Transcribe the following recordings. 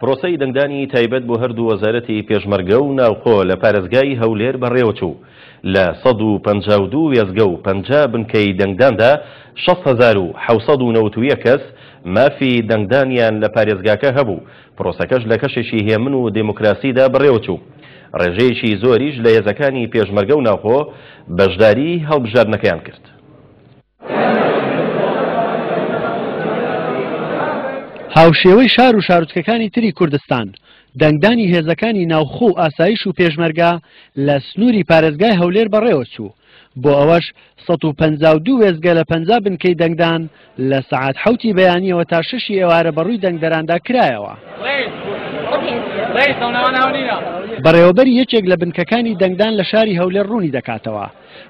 پرۆسەی دەنگدانی تایبەت بۆ هەردوو وەزارەتی پێشمەرگە و ناوخۆ لە پارێزگای هەولێر بەڕێوەچوو. لە 152 وێستگە و 50 بنکەی دەنگداندا 60,791 کەس مافی دەنگدانیان لە پارێزگاکە هەبوو، پرۆسەکەش لە کەشێکی هێمن و دێموکراسیدا بەڕێوەچوو. ڕێژەیەکی زۆریش لە هێزەکانی پێشمەرگە و ناوخۆ بەشداریی هەڵبژاردنەکەیان کرد. هاوشێوەی شار و شارۆچکەکانی تری کوردستان، دەنگدانی هێزەکانی ناوخۆ و ئاسایش و پێشمەرگە لە سنووری پارێزگای هەولێر بەڕێوەچوو، بۆ ئەوەش 152 وێستگە لە 50 بنکەی دەنگدان لە سەعات حەوتی بەیانیەوە تا شەشی ئێوارە بەڕووی دەنگدەراندا کرایەوە. بەڕێوەبەری یەکێک لە بنکەکانی دەنگدان لە شاری هەولێر ڕوونی دەکاتەوە،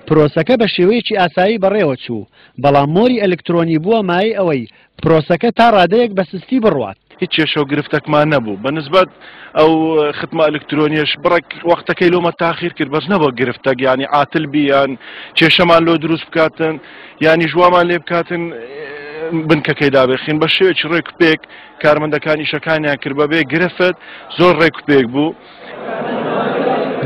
پرۆسەکە بە شێوەیەکی ئاسایی بەڕێوەچوو، بەڵام مۆری ئەلکترۆنی بووە مایەی ئەوەی پرۆسەکە تا ڕادەیەک بە سستی بڕوات. هیچ کێشە و گرفتەکمان نەبوو، بە نسبەت ئەو ختمە ئەلکترۆنیەش بڕێک وەختەکەی لۆمە تاخیر کرد، بەس نەبووە گرفتەک، یانی عاتل بی یان کێشەمان لۆ دروست بکاتن یانیش وامان لێ بکاتن بنکەکەی دابخین. بە شێوەیەکی ڕێک و پێک کارمەندەکان ئیشەکانیان کرد بەبێ گرفت، زۆر ڕێک و پێک بوو.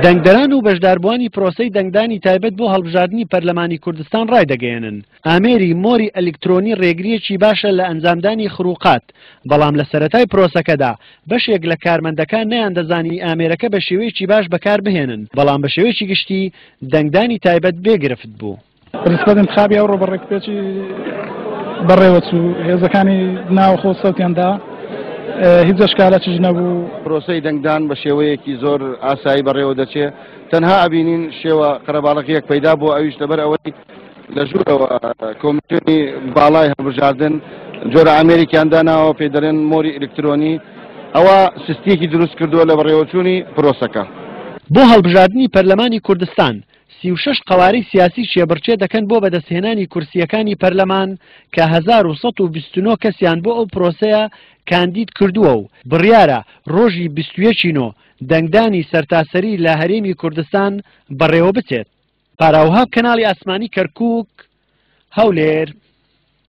دەنگدەران و بەشداربووانی پرۆسەی دەنگدانی تایبەت بۆ هەڵبژاردنی پەرلەمانی کوردستان ڕایدەگەیەنن، ئامێری مۆری ئەلیکترۆنی ڕێگرییەکی باشە لە ئەنجامدانی خروقات، بەڵام لە سەرەتای پرۆسەکەدا بەشێک لە کارمەندەکان نەیاندەزانی ئامێرەکە بە شێوەیەکی باش بەکاربهێنن، بەڵام بە شێوەیەکی گشتی دەنگدانی تایبەت بێ گرفت بوو. بەنسبەت انتخابی ئەوڕۆ بە ڕێکوپێکی بەڕێوەچوو، هێزەکانی ناوخۆ سەوتیان دا، هیچ ئەشکالەکیش نەبوو. پرۆسەی دەنگدان بە شێوەیەکی زۆر ئاسایی بەڕێوە دەچێ، تەنها ئەبینین شێوە قەرەباڵغییەک پەیدا بووە، ئەویش لەبەر ئەوەی لە ژوورەوە کۆمیسیۆنی باڵای هەڵبژاردن جۆرە ئامێرێکیان داناوە پێی دەڵێن مۆری ئەلکترۆنی، ئەوە سستییەکی دروست کردووە لە بەڕێوەچوونی پرۆسەکە. بۆ هەڵبژاردنی پەرلەمانی کوردستان 36 قەوارەی سیاسی کێبڕکێ دەکەن بۆ بەدەستهێنانی کورسییەکانی پەرلەمان کە 1129 کەسیان بۆ ئەو پرۆسەیە کاندید کردووە و بڕیارە ڕۆژی 21 ی نۆ دەنگدانی سەرتاسەری لە هەرێمی کوردستان بەڕێوەبچێت. پاراوهاب کەناڵی ئاسمانی کەرکوک، هەولێر.